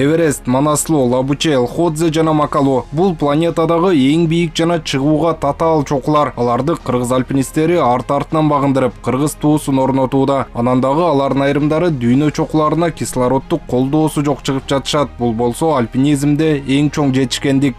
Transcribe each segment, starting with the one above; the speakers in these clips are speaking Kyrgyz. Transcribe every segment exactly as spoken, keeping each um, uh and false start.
Эверест, Манаслуу, Лабуче, Лходзе жана Макалу. Бул планетадагы эң бийик жана чыгууга татаал чокулар. Аларды кыргыз альпинисттери арт-артынан багындырып, кыргыз туусун орнотууда. Анан дагы алардын айрымдары дүйнө чокуларына кислороддук колдоосу жок чыгып жатышат. Бул болсо альпинизмде эң чоң жетишкендик.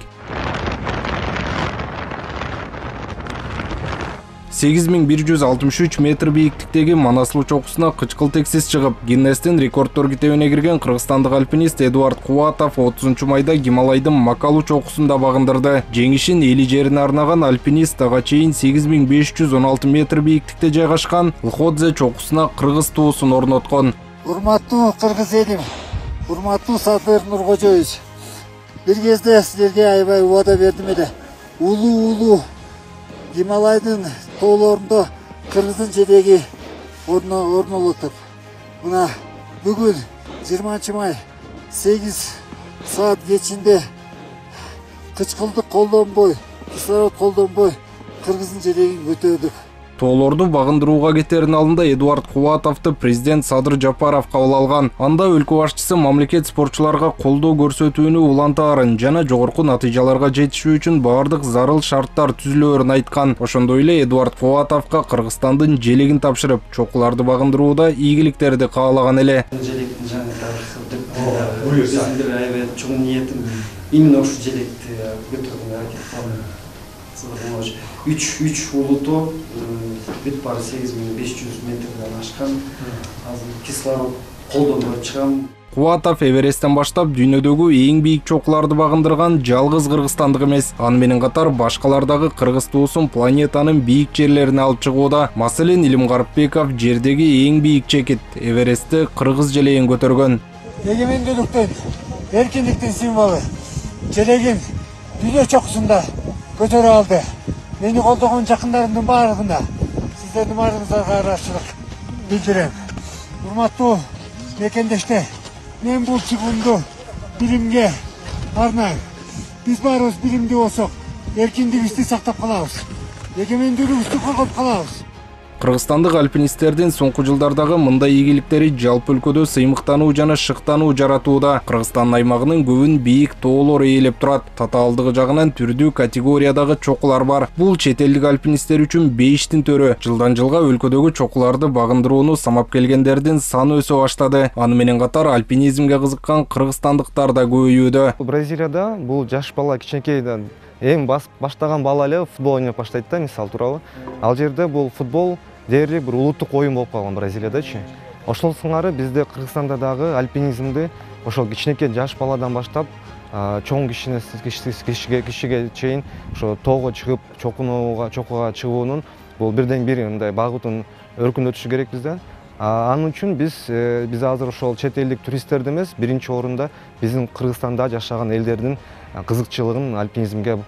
сегиз миң бир жүз алтымыш үч метр бийиктиктеги Манаслуу чокусуна кычкылтексиз чыгып, Гиннестин рекорддор китебине кирген кыргызстандык альпинист Эдуард Кубатов отузунчу майда Гималайдын Макалу чокусунда багындырды. Жеңишин эли жерине арнаган альпинист ага чейин сегиз миң беш жүз он алты метр бийиктикте жайгашкан Лходзе чокусуна кыргыз туусун орноткон. Урматтуу кыргыз элим, урматтуу Садыр Нуркожоевич, бир кезде силерге аябай убада бердим эле. Улуу-улуу Гималайдын тоолорунда кыргыздын желеги орнолотуп, мына бүгүн жыйырманчы май сегиз саат кечинде кычкылдык колдонбой, кислород колдонбой кыргыздын желегин көтөрдүк. Тоолорду багындырууга кетердин алдында Эдуард Кубатовду президент Садыр Жапаров кабыл алган. Анда өлкө башчысы мамлекет спортчуларга колдоо көрсөтүүнү улантаарын жана жогорку натыйжаларга жетишүү үчүн бардык зарыл шарттар түзүлөөрүн айткан. Ошондой эле Эдуард Кубатовго Кыргызстандын желегин тапшырып, чокуларды багындырууда ийгиликтерди каалаган эле. Желектин жаңы тапшырдык. Биздин аябай чоң ниетим именно ушу желекти көтөрүүгө аракет кылам. үч улуту бүт баары сегиз миң беш жүз метрден ашкан. Азыр кислород колдонбой чыгам. Кубатов Эвересттен баштап дүйнөдөгү эң бийик чокуларды багындырган жалгыз кыргызстандык эмес. Аны менен катар башкалардагы кыргыз туусун планетанын бийик жерлерине алып чыгууда. Маселен, Илим Гарыпбеков жердеги эң бийик чекит Эверестти кыргыз желегин көтөргөн. Эгемендүүлүктүн, эркиндиктин символу желегин дүйнө чокусунда көтөрө алды. Мени колдогон жакындарымдын баарыгына сиздердин баарыңыздарга ыраазычылык билдирем. Урматтуу мекендештер, мен бул чыгуумду билимге арнайм. Биз баарыбыз билимдүү болсок, эркиндигибизди сактап калабыз. Эгемендүүлүгүбүздү коргоп калабыз. Кыргызстандык альпинисттердин соңку жылдардагы мындай ийгиликтери жалпы өлкөдө сыймыктануу жана шыктануу жаратууда. Кыргызстан аймагынын көбүн бийик тоолор ээлеп турат. Татаалдыгы жагынан түрдүү категориядагы чокулар бар. Бул чет элдик альпинисттер үчүн бейиштин төрө. Жылдан жылга өлкөдөгү чокуларды багындырууну самап келгендердин саны өсө баштады. Аны менен катар альпинизмге кызыккан кыргызстандыктар да көбөйүүдө. Бразилияда бул жаш бала кичинекейден эң баштаган бала эле футбол ойноп баштайт да, мисал тууралуу. Ал жерде бул футбол дээрлик бир улуттук оюн болуп калган Бразилиядачы. Ошол сыңары бизде Кыргызстанда дагы альпинизмди ошол кичинекей жаш баладан баштап чоң кишине кишиге кишиге чейин ошо тоого чыгып, чокунууга, чокуга чыгуунун бул бирден бир мындай багытын өркүндөтүшү керек бизде. Анын үчүн биз биз азыр ошол чет элдик туристтерди эмес, биринчи орунда биздин Кыргызстанда жашаган элдердин кызыкчылыгын альпинизмге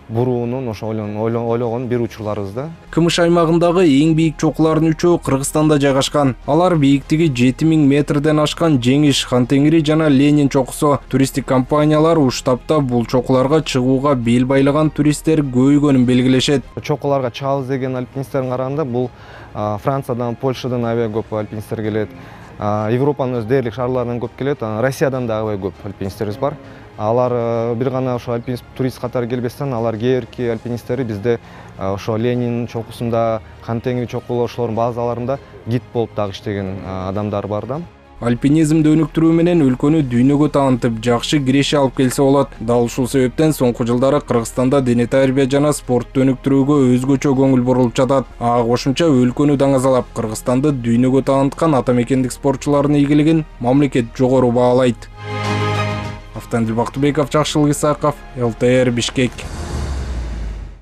буруунун ошо ойлогон бир учурларыбыз да. Кымыш аймагындагы эң бийик чокулардын үчөө Кыргызстанда жайгашкан. Алар бийиктиги жети миң метрден ашкан Жеңиш, Хантеңири жана Ленин чокусу. Туристтик компаниялар уштапта бул чокуларга чыгууга бел байлаган туристтер көбөйгөнүн белгилешет. Чокуларга чыгабыз деген альпинисттердин караганда бул Франциядан, Польшадан аябай көп альпинисттер келет. Европанын өз дээрлик шаарларынан көп келет. Россиядан да аябай көп альпинисттерибиз бар. Алар бир гана ошо альпинист турист катары келбестен, алар кээрки альпинисттери бизде ошо Ленин чокусунда, Хантеңири чокулу ошолордун базаларында гид болуп дагы иштеген адамдар бар да. Альпинизмди өнүктүрүү менен өлкөнү дүйнөгө таанытып, жакшы киреше алып келсе болот. Дал ушул себептен соңку жылдары Кыргызстанда дене тарбия жана спортту өнүктүрүүгө өзгөчө көңүл бурулуп жатат. Ага кошумча өлкөнү даңазалап, Кыргызстанды дүйнөгө тааныткан ата мекендик спортчулардын ийгилигин мамлекет жогору баалайт. Автандил Бактыбеков, Жакшылык Исаков, эл тэ эр Бишкек.